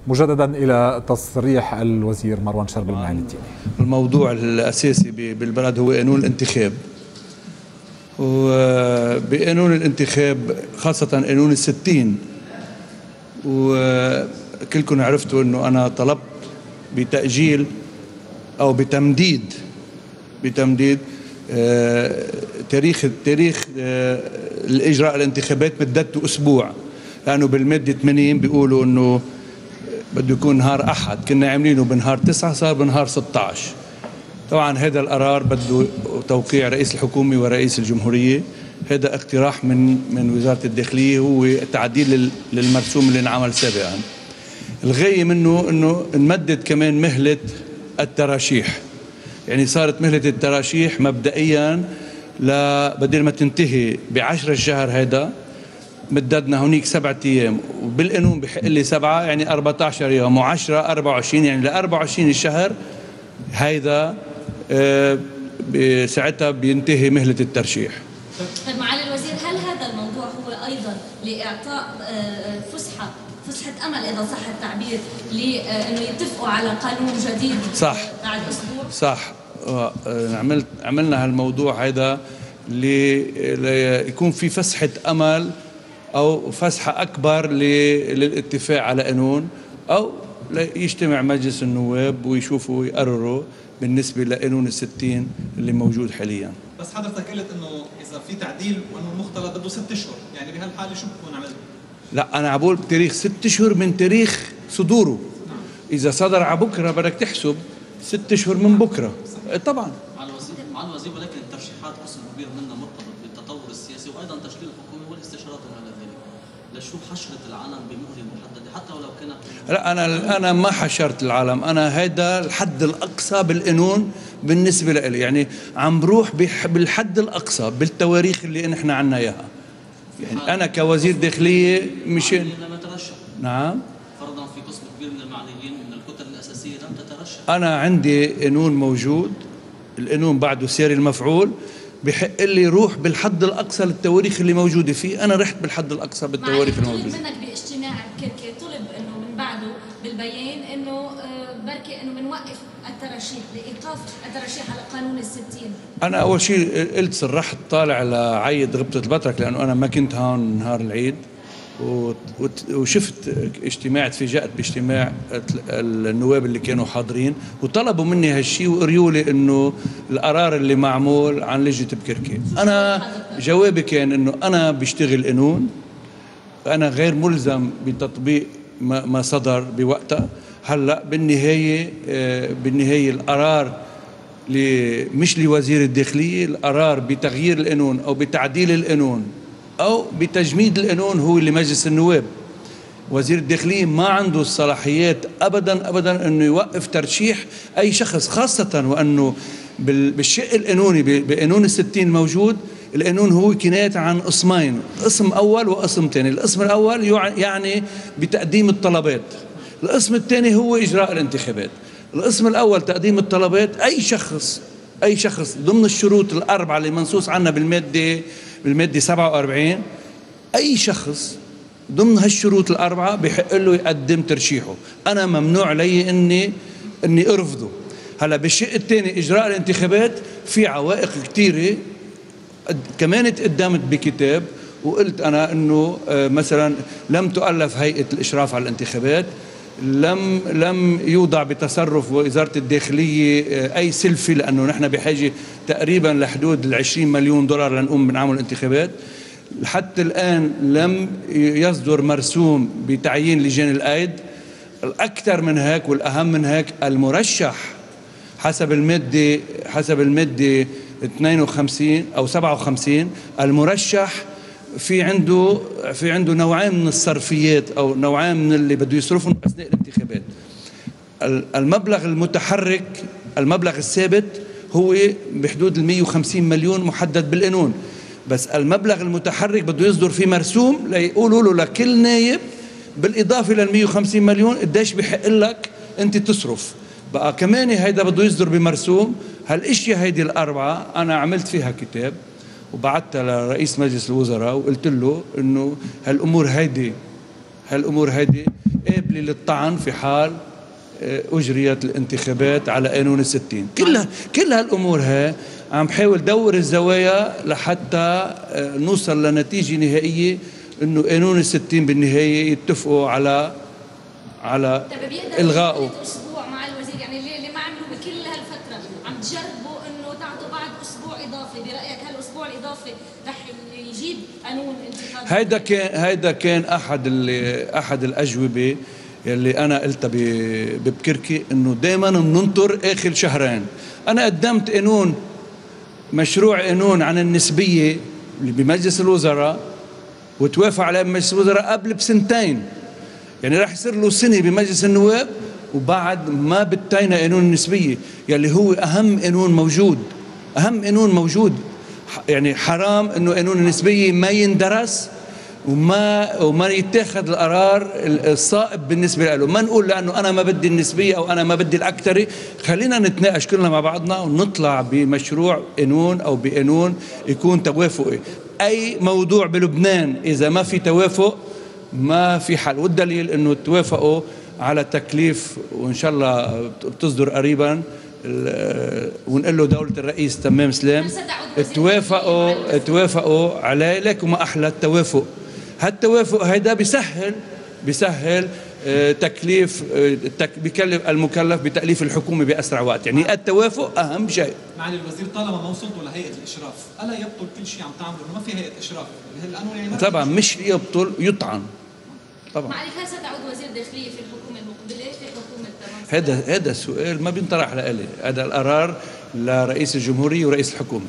مجددا إلى تصريح الوزير مروان شرب المعالي الديني. الموضوع الأساسي بالبلد هو قانون الانتخاب، وبقانون الانتخاب خاصة قانون ال60، وكلكم عرفتوا أنه أنا طلبت بتأجيل أو بتمديد تاريخ الإجراء الانتخابات مدته أسبوع، لأنه بالمادة 80 بيقولوا أنه بده يكون نهار أحد، كنا عاملينه بنهار 9 صار بنهار 16. طبعا هذا القرار بده توقيع رئيس الحكومة ورئيس الجمهورية، هذا اقتراح من وزارة الداخلية، هو تعديل للمرسوم اللي انعمل سابقا. الغاية منه أنه نمدد كمان مهلة التراشيح، يعني صارت مهلة التراشيح مبدئيا بدل ما تنتهي ب10 الشهر، هذا مددنا هونيك 7 أيام، وبالقانون بحق لي 7، يعني 14 يوم، و10 24، يعني ل 24 الشهر هيدا ساعتها بينتهي مهلة الترشيح. طيب معالي الوزير، هل هذا الموضوع هو أيضا لإعطاء فسحة أمل إذا صح التعبير لأنه يتفقوا على قانون جديد صح بعد أسبوع؟ صح. عملنا هالموضوع هذا ليكون في فسحة أمل أو فسحة أكبر للاتفاق على قانون، أو يجتمع مجلس النواب ويشوفوا ويقرروا بالنسبة لقانون ال60 اللي موجود حاليا. بس حضرتك قلت إنه إذا في تعديل وإنه المختلط بده 6 أشهر، يعني بهالحالة شو بكون عملت؟ لا، أنا عبول بتاريخ 6 أشهر من تاريخ صدوره. إذا صدر على بكرة بدك تحسب 6 أشهر من بكرة. طبعا مع الوزير، ولكن الترشيحات قسم كبير منها مرتبط بالتطور السياسي وأيضا تشكيل الحكومة والاستشارات وما إلى ذلك. لشو حشرة العالم بمهلة محددة حتى ولو كانت؟ لا، أنا ما حشرت العالم، أنا هيدا الحد الأقصى بالقانون بالنسبة لي، يعني عم بروح بالحد الأقصى بالتواريخ اللي نحن عنا إياها. يعني أنا كوزير داخلية مشان لم يترشح. نعم، فرضا في قسم كبير من المعنيين من الكتل الأساسية لم تترشح. أنا عندي قانون موجود، القانون بعده سير المفعول، بحق لي روح بالحد الأقصى للتواريخ اللي موجودة فيه. أنا رحت بالحد الأقصى بالتواريخ الموجودة. طلب منك باجتماع بكركي، طلب إنه من بعده بالبيان إنه بركي إنه بنوقف الترشيح لإيقاف الترشيح على قانون ال60. أنا أول شيء قلت صرحت طالع لعيد غبطة البطرك، لأنه أنا ما كنت هون نهار العيد، وشفت اجتماع، تفاجأت باجتماع النواب اللي كانوا حاضرين وطلبوا مني هالشيء وقريوا لي انه القرار اللي معمول عن لجنة بكركي. انا جوابي كان انه انا بشتغل قانون، انا غير ملزم بتطبيق ما صدر بوقتها. هلا بالنهاية القرار مش لوزير الداخلية، القرار بتغيير القانون او بتعديل القانون أو بتجميد القانون هو لمجلس النواب. وزير الداخلية ما عنده الصلاحيات أبدا أنه يوقف ترشيح أي شخص، خاصة وأنه بالشق القانوني بقانون ال60 الموجود. القانون هو كناية عن قسمين، قسم أول وقسم ثاني. القسم الأول يعني بتقديم الطلبات، القسم الثاني هو إجراء الانتخابات. القسم الأول تقديم الطلبات، أي شخص ضمن الشروط الأربعة اللي منصوص عنها بالمادة 47، أي شخص ضمن هالشروط الأربعة بحق له يقدم ترشيحه. أنا ممنوع علي إني أرفضه. هلا بالشيء الثاني إجراء الانتخابات في عوائق كثيرة كمان تقدمت بكتاب، وقلت أنا إنه مثلا لم تؤلف هيئة الإشراف على الانتخابات، لم يوضع بتصرف وزارة الداخلية أي سلفي، لأنه نحن بحاجة تقريبا لحدود $20 مليون لنقوم بنعمل الانتخابات. حتى الآن لم يصدر مرسوم بتعيين لجان الأيد. الأكثر من هيك والأهم من هيك، المرشح حسب المادة 52 أو 57، المرشح في عنده نوعين من الصرفيات أو نوعين من اللي بده يصرفهم أثناء الانتخابات. المبلغ المتحرك، المبلغ الثابت هو بحدود 150 مليون محدد بالقانون، بس المبلغ المتحرك بده يصدر فيه مرسوم ليقولوا له لكل نايب بالإضافة لل 150 مليون قديش بحق لك أنت تصرف. بقى كمان هيدا بده يصدر بمرسوم. هالاشياء هيدي الأربعة أنا عملت فيها كتاب وبعتها لرئيس مجلس الوزراء وقلت له إنه هالأمور هالأمور هيدي قابلة للطعن في حال أجريت الانتخابات على قانون ال60. كل هالأمور هاي عم بحاول دور الزوايا لحتى نوصل لنتيجة نهائية إنه قانون ال60 بالنهاية يتفقوا على إلغائه. أسبوع مع الوزير، يعني اللي ما عملوا بكل هالفترة عم تجربوا إنه تعطوا بعد أسبوع إضافي، برأيك هالأسبوع الإضافي رح يجيب قانون انتخابي؟ هيدا كان أحد الأجوبة يلي أنا قلتها ببكركي، إنه دائما بننطر آخر شهرين. أنا قدمت مشروع قانون عن النسبية بمجلس الوزراء وتوافق عليه بمجلس الوزراء قبل بسنتين، يعني راح يصير له سنة بمجلس النواب وبعد ما بتينا قانون النسبية يلي هو أهم قانون موجود. يعني حرام إنه قانون النسبية ما يندرس وما يتاخذ القرار الصائب بالنسبة له. ما نقول لأنه أنا ما بدي النسبية أو أنا ما بدي الأكثرية، خلينا نتناقش كلنا مع بعضنا ونطلع بمشروع قانون أو بقانون يكون توافقي. أي موضوع بلبنان إذا ما في توافق ما في حل، والدليل إنه توافقوا على تكليف وإن شاء الله بتصدر قريبا، ونقول له دولة الرئيس تمام سلام توافقوا عليه. لكن ما أحلى التوافق. هالتوافق هيدا بيسهل تكليف بكلف المكلف بتأليف الحكومة بأسرع وقت. يعني التوافق أهم شيء. معالي الوزير، طالما ما وصلتوا لهيئة الإشراف، ألا يبطل كل شيء عم تعملوا إنه ما في هيئة إشراف؟ القانون يعني طبعا مش يبطل، يطعن طبعا. معالي هل ستعود وزير داخلية في الحكومة المقبلة في حكومة هذا السؤال ما بينطرح لإلي، هذا القرار لرئيس الجمهورية ورئيس الحكومة.